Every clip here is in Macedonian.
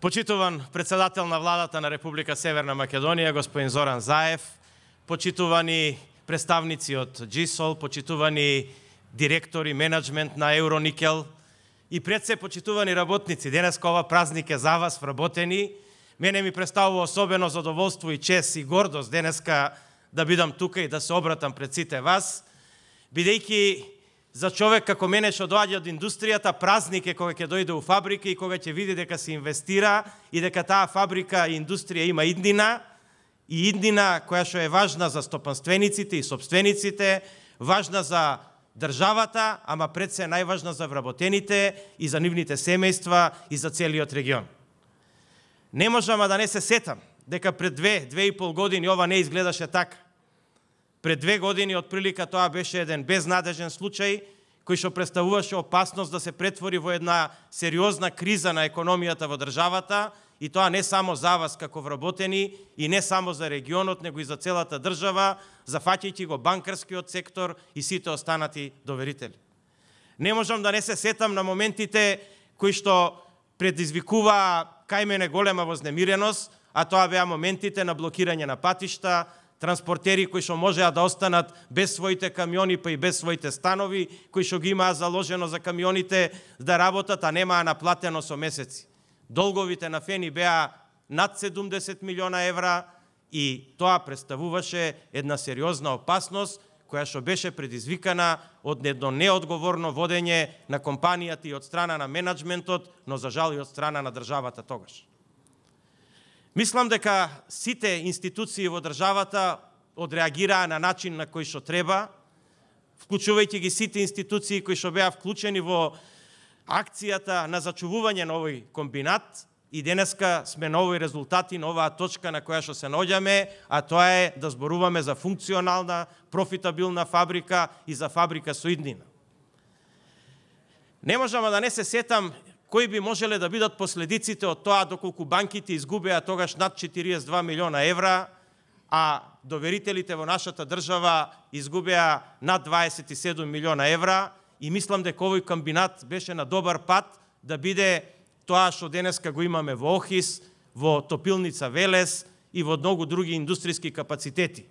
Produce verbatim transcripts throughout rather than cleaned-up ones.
Почитуван председател на владата на Република Северна Македонија, господин Зоран Заев, почитувани представници од Джисол, почитувани директори, менеджмент на Евроникел и пред се почитувани работници. Денеска ова празник е за вас, вработени. Мене ми представува особено задоволство и чест и гордост денеска да бидам тука и да се обратам пред сите вас, бидејќи за човек како мене што доаѓа од индустријата, празник е кога ќе дојде у фабрика и кога ќе види дека се инвестира и дека таа фабрика и индустрија има иднина, и иднина која што е важна за стопанствениците и собствениците, важна за државата, ама пред се најважна за вработените и за нивните семејства и за целиот регион. Не можам да не се сетам дека пред две, две и пол години ова не изгледаше така. Пред две години отприлика тоа беше еден безнадежен случај кој што представуваше опасност да се претвори во една сериозна криза на економијата во државата, и тоа не само за вас како вработени и не само за регионот, него и за целата држава, зафаќајќи го банкарскиот сектор и сите останати доверители. Не можам да не се сетам на моментите кои што предизвикуваа кај мене голема вознемиреност, а тоа беа моментите на блокирање на патишта, транспортери кои што можеа да останат без своите камиони, па и без своите станови, кои што ги имаа заложено за камионите да работат, а немаа наплатено со месеци. Долговите на Фени беа над седумдесет милиона евра и тоа представуваше една сериозна опасност која што беше предизвикана од едно неодговорно водење на компанијата и од страна на менеджментот, но за жал и од страна на државата тогаш. Мислам дека сите институции во државата одреагираа на начин на кој што треба, вклучувајќи ги сите институции кои што беа вклучени во акцијата на зачувување на овој комбинат, и денеска сме на овој резултати, на оваа точка на која што се наоѓаме, а тоа е да зборуваме за функционална, профитабилна фабрика и за фабрика со иднина. Не можам да не се сетам кои би можеле да бидат последиците од тоа доколку банките изгубеа тогаш над четириесет и два милиона евра, а доверителите во нашата држава изгубеа над дваесет и седум милиона евра, и мислам дека овој комбинат беше на добар пат да биде тоа што денеска го имаме во Охис, во Топилница Велес и во многу други индустријски капацитети.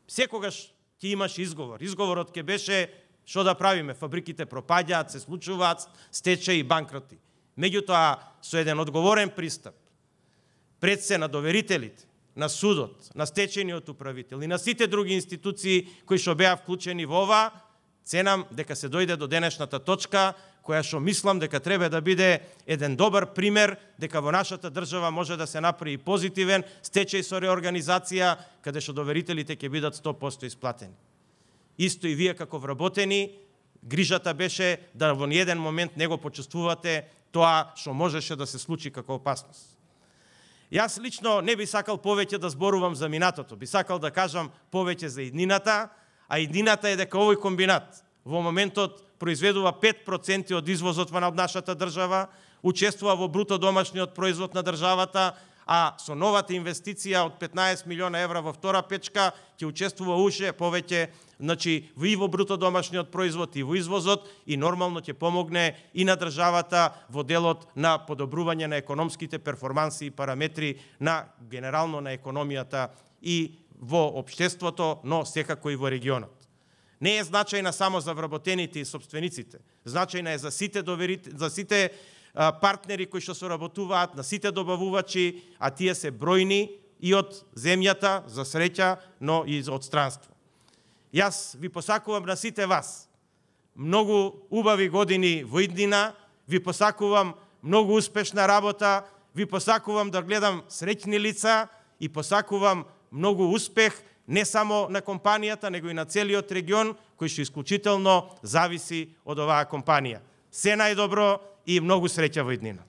Секогаш ќе имаш изговор. Изговорот ќе беше што да правиме, фабриките пропаѓаат, се случуваат стечаи и банкроти. Меѓутоа, со еден одговорен пристап, пред се на доверителите, на судот, на стечајниот управител и на сите други институции кои што беа вклучени во ова, ценам дека се дојде до денешната точка, која што мислам дека треба да биде еден добар пример, дека во нашата држава може да се направи позитивен стечај со реорганизација, каде што доверителите ќе бидат сто проценти исплатени. Исто и вие како вработени, грижата беше да во ниеден момент не го почувствувате тоа што можеше да се случи како опасност. Јас лично не би сакал повеќе да зборувам за минатото, би сакал да кажам повеќе за иднината, а иднината е дека овој комбинат во моментот произведува пет проценти од извозот во нашата држава, учествува во бруто домашниот производ на државата, а со новата инвестиција од петнаесет милиона евра во втора печка ќе учествува уште повеќе, значи и во бруто домашниот производ и во извозот, и нормално ќе помогне и на државата во делот на подобрување на економските перформанси и параметри на генерално на економијата и во општеството, но секако и во регионот. Не е значајна само за вработените и собствениците, значајна е за сите доверите, за сите партнери кои што соработуваат, на сите добавувачи, а тие се бројни и од земјата, за среќа, но и од странство. Јас ви посакувам на сите вас многу убави години во иднина, ви посакувам многу успешна работа, ви посакувам да гледам среќни лица и посакувам многу успех не само на компанијата, него и на целиот регион, кој што исклучително зависи од оваа компанија. Се најдобро и многу среќа во иднина.